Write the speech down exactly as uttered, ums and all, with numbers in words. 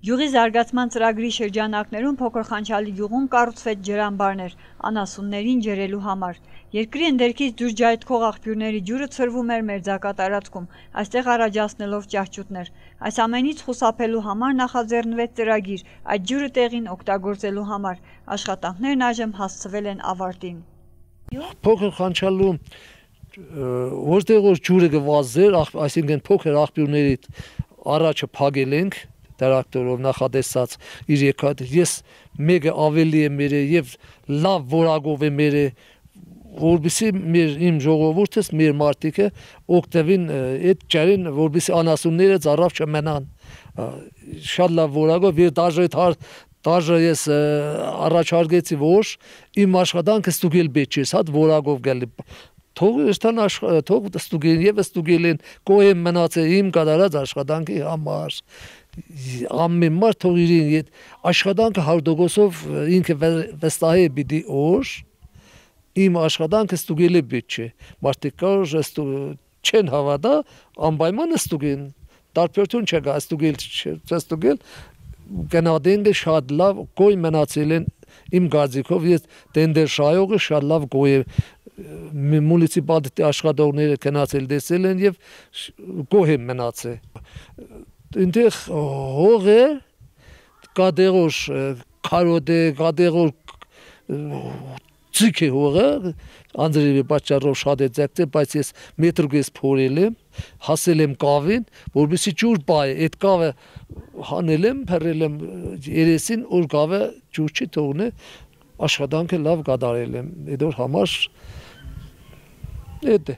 Գյուղի զարգացման ծրագրի շրջանակներում փոքր Խանչալի գյուղում կառուցվեց ջրամբարներ անասուններին ջրելու համար։ Երկրի ընդերքից դուրս ջայթքող աղբյուրների ջուրը ցրվում էր մերձակա տարածքում, այստեղ առաջացնելով ճահճուտներ։ Այս ամենից խուսափելու համար նախաձեռնվեց ծրագիր այդ ջուրը տեղին օգտագործելու համար։ Աշխատանքներն այժմ հասցվել են ավարտին։ Փոքր Խանչալում որտեղ որ ջուրը գվազեր, այսինքն փոքր աղբյուրների առաջը փակել ենք տրակտորով նախադեсած իր եկած ես մեկը ավելի է մերը եւ լավ որակով է մերը որբիսի մեր իմ ժողովուրդս մեր մարդիկը օգտվին այդ ջարին որբիսի անասունները ծառավ չմնան շատ լավ որակով եւ դաժե դաժե ես առաջարկեցի որ իմ աշխատանքը ստուգել պետք է հատ որակով գալի թող ստան թող ստուգեն եւ ստուգելին կոյեմ մնացել իմ կատարած աշխատանքի համար ամեն մարդ թող իրեն աշխատանքը հարդոգոսով ինքը վստահ է պիտի օր իմ աշխատանքը ստուգել է պետք է մարդիկ կար չեն հավատա անպայման ստուգեն տարբերություն չկա ստուգել չստուգել գնահատենք շատ լավ կոյ մնացել են իմ գազիկով ես տենդեր շայողը շատ լավ կոյ մունիցիպալ աշխատողները գնացել տեսել են եւ գոհ են մնացել Ինտեղ հողը կադերոշ կարոդե կադերոշ ցիկի հողը անձրևի պատճառով շատ է ձգտել բայց ես մետրուկես փորել եմ հասել եմ կավին որովհետեւ ջուր բայ այդ կավը հանել եմ փռել եմ երեսին որ կավը ջուր չի թողնի աշխատանքը լավ կատարել եմ այդ համար այդ